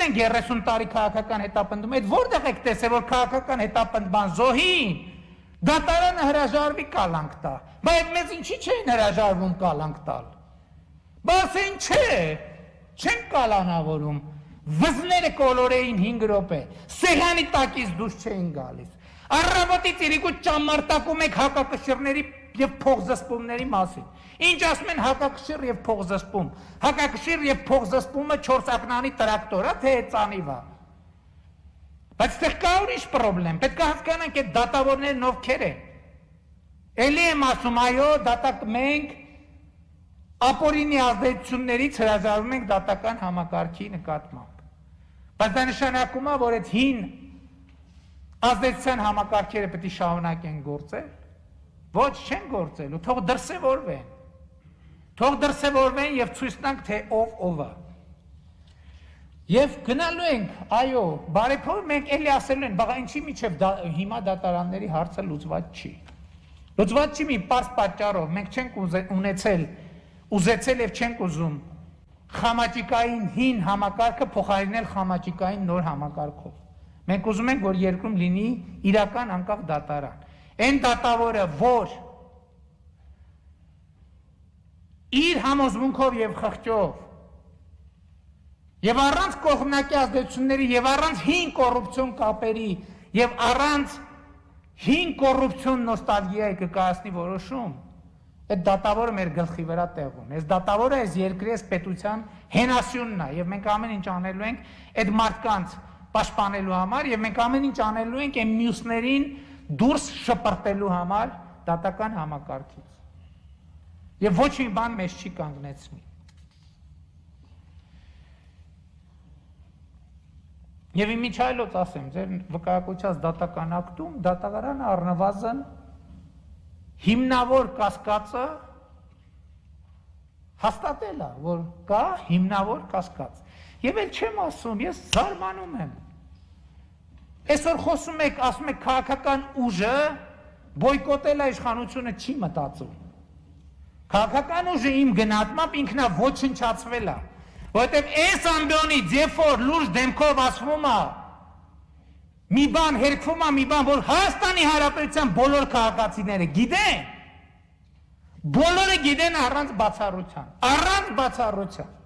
տեսել են 30 տարի քաղաքական հետապնդում, այդ որտեղ եք տեսել, որ քաղաքական հետապնդման զոհին դատարանը հրաժարվի կալանք տա, բայց մեզ ինչի չէին հրաժարվում կալանք տալ, բասեն չեն կալանավորում, վզները կոլորեին 5 րոպե, սեղանի տակից դուրս չէին գալիս, առավոտից իրիկուտ ճամարտակում եք հակակշիռների և փողզսպումների մասին, ինչ ասում են հակակշիռ և փողզսպում, հակակշիռ և փողզսպումը 4 ակնանի տրակտորա, թե էծանիվա, բայց տեղ կա ուրիշ պրոբլեմ, պետք է հասկանանք այդ դատավորներն ովքեր են, էլի եմ ասում, այո, դատակ մենք ապօրինի ազդեցություններից հրաժարվում ենք դատական համակարգի նկատմամբ, բայց դա նշանակում է, որ այդ հին ազդեցության համակարգերը պետք է շարունակեն գործել, ոչ չեն գործելու, թող դրսևորվեն և ցույց տանք, թե ով է։ Եվ գնալու ենք, այո, բարեփոխ մենք էլի ասելու են, բաղա ինչի միջև հիմա դատարանների հարցը լուծված չի։ Լուծված չի մի պարզ պատճառով, մենք չենք ուզեցել և չենք ուզում խամաճիկային հին համակարգը փոխարինել խամաճիկային նոր համակարգով։ Մենք ուզում ենք, որ երկրում լինի իրական անկախ դատարան։ Այն դատավորը, որ իր համոզմունքով և խղճով և առանց կողմնակի ազդեցությունների և առանց հին կոռուպցիոն կապերի և առանց հին կոռուպցիոն նոստալգիայի կկայացնի որոշում, այդ դատավորը մեր գլխի վրա տեղում է։ Այս դատավորը այս երկրի այս պետության հենասյունն է և մենք ամեն ինչ անելու ենք այդ մարդկանց պաշտպանելու համար և մենք ամեն ինչ անելու ենք այն մյուսներին դուրս շպրտելու համար դատական համակարգից։ Եվ ոչ մի բան մեզ չի կանգնեցնի։ Եվ իմիջայլոց ասեմ, ձեր վկայակոչած դատական ակտում դատավարանը առնվազն հիմնավոր կասկածը հաստատել է, որ կա հիմնավոր կասկած։ Եվ էլ չեմ ասում, ես զարմանում եմ։ Այսօր խոսում եք, ասում եք քաղաքական ուժը բոյկոտել է իշխանությունը չի մտածում։ Քաղաքական ուժը իմ գնահատմամբ ինքնա ոչնչացվել է, որովհետև այս ամբիոնից, երբ որ լուրջ դեմքով ասվում է, մի բան հերքվում է, մի բան, որ Հայաստանի Հանրապետության բոլոր քաղաքացիները գիտեն, բոլորը գիտեն առանց բացառության։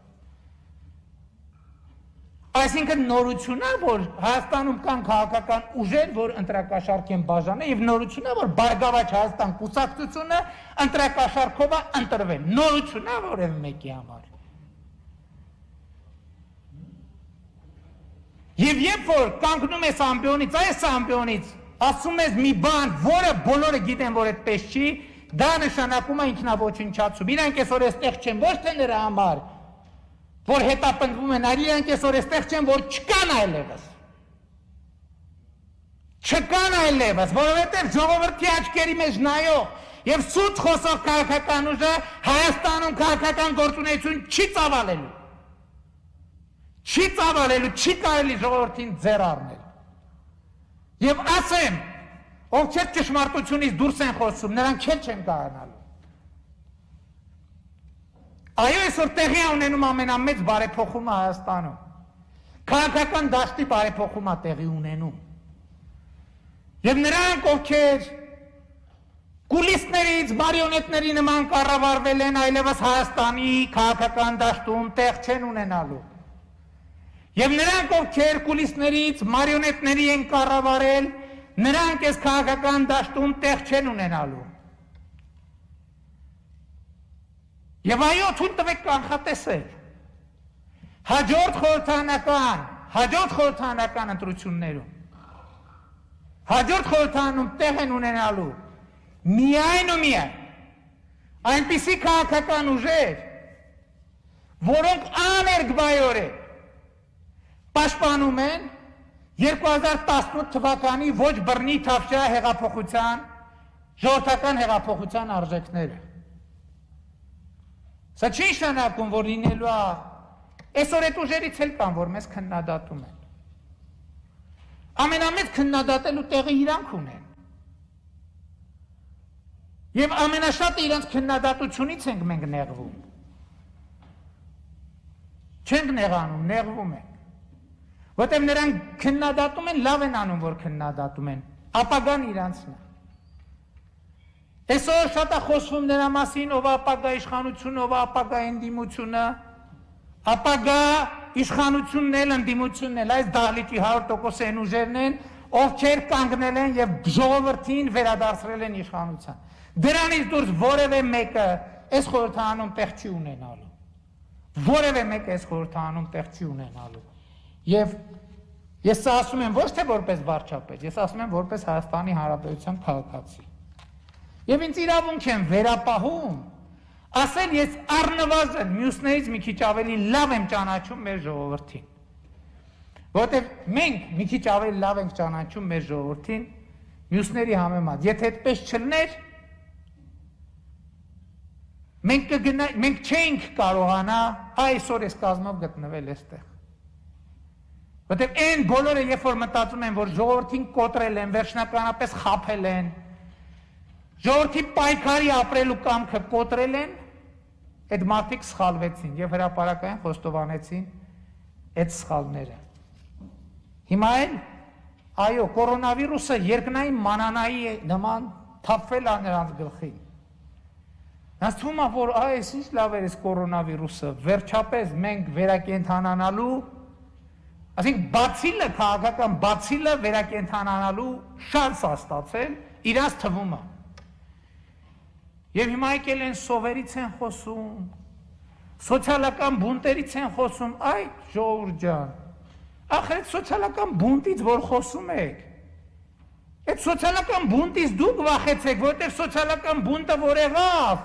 Այսինքն նորություն է, որ Հայաստանում կան քաղաքական ուժեր, որ ընտրակաշառք են բաժանել և նորություն է, որ Բարգավաճ Հայաստան կուսակցությունը ընտրակաշառքով է ընտրվել, նորություն է որևէ մեկի համար։ Եվ երբ որ կանգնում ես ամբիոնից, այս ամբիոնից ասում ես մի բան, որը բոլորը գիտեն, որ այդպես չի, դա նշանակում է ինքնաոչնչացում։ Իրանք այսօր այստեղ չեն, ոչ թե նրա համար, որ հետապնդվում են, այլ իրանք այսօր այստեղ չեն, որ չկան այլևս։ Չկան այլևս, որովհետև ժողովրդի աչքերի մեջ նայող և սուտ խոսող քաղաքական ուժը Հայաստանում քաղաքական գործունեություն չի ծավալելու։ Չի ծավալելու, չի կարելի ժողովրդին ձեռ առնել։ Եվ ասեմ, ովքեր ճշմարտությունից դուրս են խոսում, նրանք չեն կարողանալու։ Այո, այսօր տեղի է ունենում ամենամեծ բարեփոխումը Հայաստանում։ Քաղաքական դաշտի բարեփոխումը տեղի ունենում։ Եվ նրանք, ովքեր կուլիսներից մարիոնետների նման կառավարվել են, այլևս Հայաստանի քաղաքական դաշտում տեղ չեն ունենալու։ Եվ նրանք, ովքեր կուլիսներից մարիոնետների են կառավարել, նրանք այս քաղաքական դաշտում տեղ չեն ունենալու։ Եվ այո, թույլ տվեք կանխատեսել, հաջորդ խորհրդարանական ընտրություններում, հաջորդ խորհրդարանում տեղ են ունենալու միայն ու միայն այնպիսի քաղաքական ուժեր, որոնք աներկբայորեն պաշտպանում են 2018 թվականի ոչ բռնի թավշյա հեղափոխության, ժողովրդական հեղափոխության արժեքները։ Սա չի նշանակում, որ լինելու է, այսօր այդ ուժերից էլ կան, որ մեզ քննադատում են։ Ամենամեծ քննադատելու տեղը իրանք ունեն։ Եվ ամենաշատը իրանց քննադատությունից ենք մենք նեղվում։ Չենք նեղանում, նեղվում ենք։ Որտեղ նրանք քննադատում են, լավ են անում, որ քննադատում են, ապագան իրանցն է։ Այսօր շատ է խոսվում նրա մասին, ով ապագա իշխանությունը, ով ապագա ընդդիմությունը, ապագա իշխանությունն էլ, ընդդիմությունն էլ, այս դահլիճի 100% են ուժերն են, ովքեր կանգնել են եւ ժողովրդին վերադարձրել են իշխանության։ Դրանից դուրս որևէ մեկը այս խորհրդանում տեղ չի ունենալու։ Որևէ մեկը այս խորհրդանում տեղ չի ունենալու։ Եվ ես սա ասում եմ ոչ թե որպես վարչապետ, ես ասում եմ որպես Հայաստանի Հանրապետության քաղաքացի։ Եվ ինձ իրավունք եմ վերապահում, ասել ես առնվազն մյուսներից մի քիչ ավելի լավ եմ ճանաչում մեր ժողովրդին։ Որտեղ մենք մի քիչ ավելի լավ ենք ճանաչում մեր ժողովրդին մյուսների համեմատ։ Եթե այդպես չլներ, մենք չէինք կարողանա այսօր այս կազմով գտնվել այստեղ։ Որտեղ այն բոլորը երբ որ մտածում են, որ ժողովրդին կոտրել են, վերջնականապես խաբել են, ժողովրդի պայքարի ապրելու կամքը կոտրել են, այդ մարդիկ սխալվեցին եւ հրապարակային խոստովանեցին այդ սխալները։ Հիմա էլ այո, կորոնավիրուսը երկնային մանանայի նման թափվել է նրանց գլխին։ Նրանց թվում է, որ այս ինչ լավ էր այս կորոնավիրուսը, վերջապես մենք վերակենդանանալու, ասենք բացիլը, քաղաքական բացիլը վերակենդանանալու շանս է ստացել, իրաց թվում է։ Եվ հիմա եկել են սովերից են խոսում, սոցիալական բունտերից են խոսում, այ ժողովուրդ ջան, ախր այդ սոցիալական բունտից որ խոսում եք, այդ սոցիալական բունտից դուք վախեցեք, որտեղ սոցիալական բունտը որ եղավ,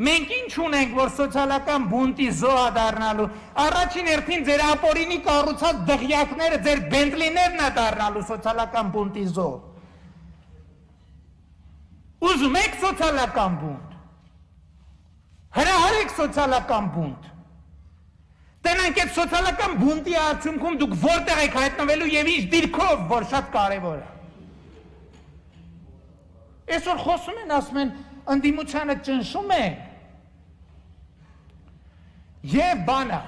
մենք ինչ ունենք, որ սոցիալական բունտի զոհ դառնալու, առաջին հերթին ձեր ապօրինի կառուցած դղյակները, ձեր բենտլիներն է դառնալու սոցիալական բունտի զոհ։ Ուզում եք սոցիալական բունտ, հրահարեք սոցիալական բունտ, տենանք այդ սոցիալական բունտի արդյունքում դուք որտեղ եք հայտնվելու և ինչ դիրքով, որ շատ կարևոր է։ Այսօր խոսում են, ասում են, ընդդիմությանը ճնշում են, և բանը,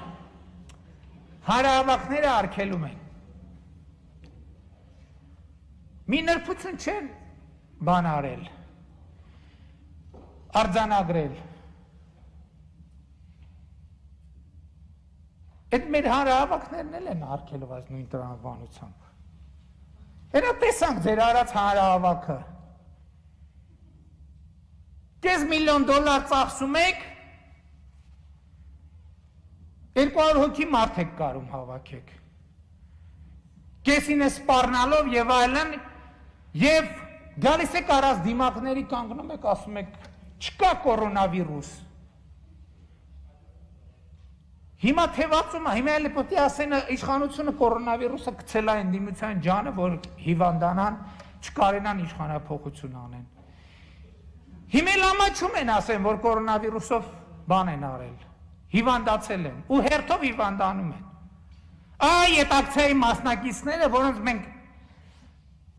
հանրահավաքները արգելում են։ Մի նրբություն չեն բան արել, արձանագրել։ Այդ մեր հանրահավաքներն էլ են արգելով այս նույն տրամաբանությամբ։ Հետո տեսանք ձեր արած հանրահավաքը։ $5 միլիոն ծախսում եք, 200 հոգի մարդ եք կարում հավաքեք։ Կեսին է սպառնալով և այլն, և գալիս եք առած դիմակների կանգնում եք, ասում եք, չկա կորոնավիրուս։ Հիմա թևածում է, հիմա էլի պետք է ասեն իշխանությունը կորոնավիրուսը գցել է ընդդիմության ջանը, որ հիվանդանան, չկարենան իշխանափոխություն անեն։ Հիմա էլ ամաչում են ասեն, որ կորոնավիրուսով բան են արել, հիվանդացել են, ու հերթով հիվանդանում են։ Այ այդ ակցիայի մասնակիցները, որոնց մենք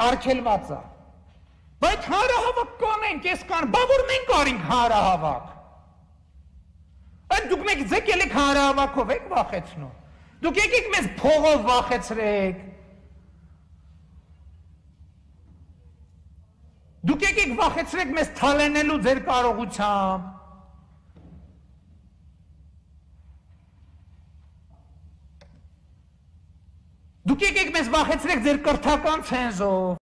արգելված է։ Բայց հանրահավաք կանենք, ես կան, բա որ մենք արինք հանրահավաք։ Այդ դուք մեկ ձեկ ելեք հանրահավաքով եք վախեցնում, դուք եկեք մեզ փողով վախեցրեք, դուք եկեք վախեցրեք մեզ թալենելու ձեր կարողությամբ, դուք եկեք մեզ վախեցրեք ձեր կրթական ցենզով,